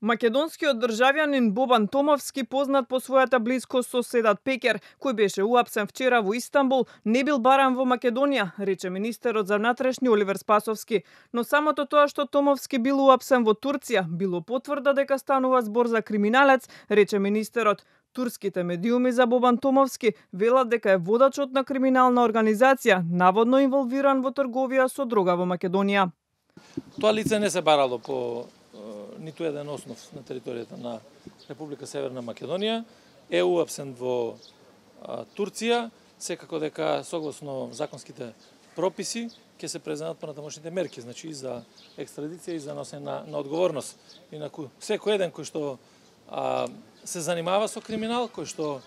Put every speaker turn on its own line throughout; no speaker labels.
Македонскиот државјанин Бобан Томовски, познат по својата близкост со седат Пекер, кој беше уапсен вчера во Истанбул, не бил баран во Македонија, рече министерот за внатрешни Оливер Спасовски. Но самото тоа што Томовски бил уапсен во Турција, било потврда дека станува збор за криминалец, рече министерот. Турските медиуми за Бобан Томовски велат дека е водачот на криминална организација, наводно инволвиран во трговија со дрога во Македонија.
Тоа лице не се барало по ниту еден основ на територијата на Република Северна Македонија, е уапсен во Турција, секако дека согласно законските прописи ќе се преземат понатамошните мерки, значи и за екстрадиција и за носење на одговорност. Инаку секој еден кој што се занимава со криминал, кој што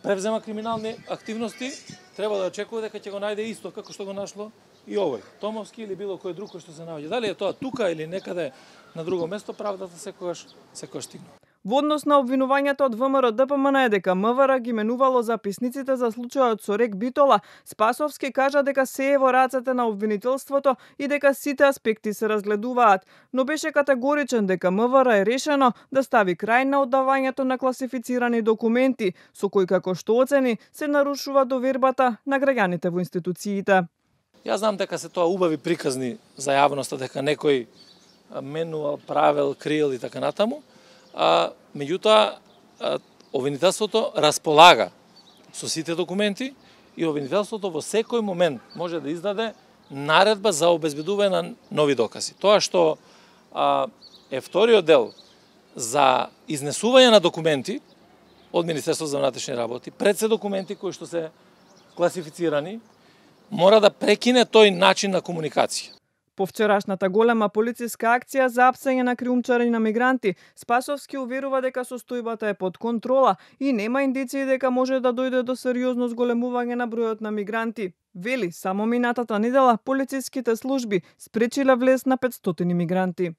превзема криминални активности, треба да очекува дека ќе го најде исто како што го нашло и овој Томовски или било кој друг кој што се наоѓа. Дали е тоа тука или некаде на друго место, правдата секогаш стигна.
Во однос на обвинувањата од ВМРО ДПМН е дека МВР ги менувало записниците за случајот со Рек Битола, Спасовски кажа дека се е во рацете на обвинителството и дека сите аспекти се разгледуваат, но беше категоричен дека МВР е решено да стави крај на оддавањето на класифицирани документи, со кои, како што оцени, се нарушува довербата на граѓаните во институциите.
Јас знам дека се тоа убави приказни за јавноста, дека некој менувал, правел, криел и така натаму. Меѓутоа, обвинителството располага со сите документи и обвинителството во секој момент може да издаде наредба за обезбедување на нови докази. Тоа што е вториот дел за изнесување на документи од Министерството за внатрешни работи, пред се документи кои што се класифицирани, мора да прекине тој начин на комуникација.
По вчерашната голема полициска акција за апсење на криумчари на мигранти, Спасовски уверува дека состојбата е под контрола и нема индиции дека може да дојде до сериозно зголемување на бројот на мигранти. Вели, само минатата недела полициските служби спречиле влез на 500 мигранти.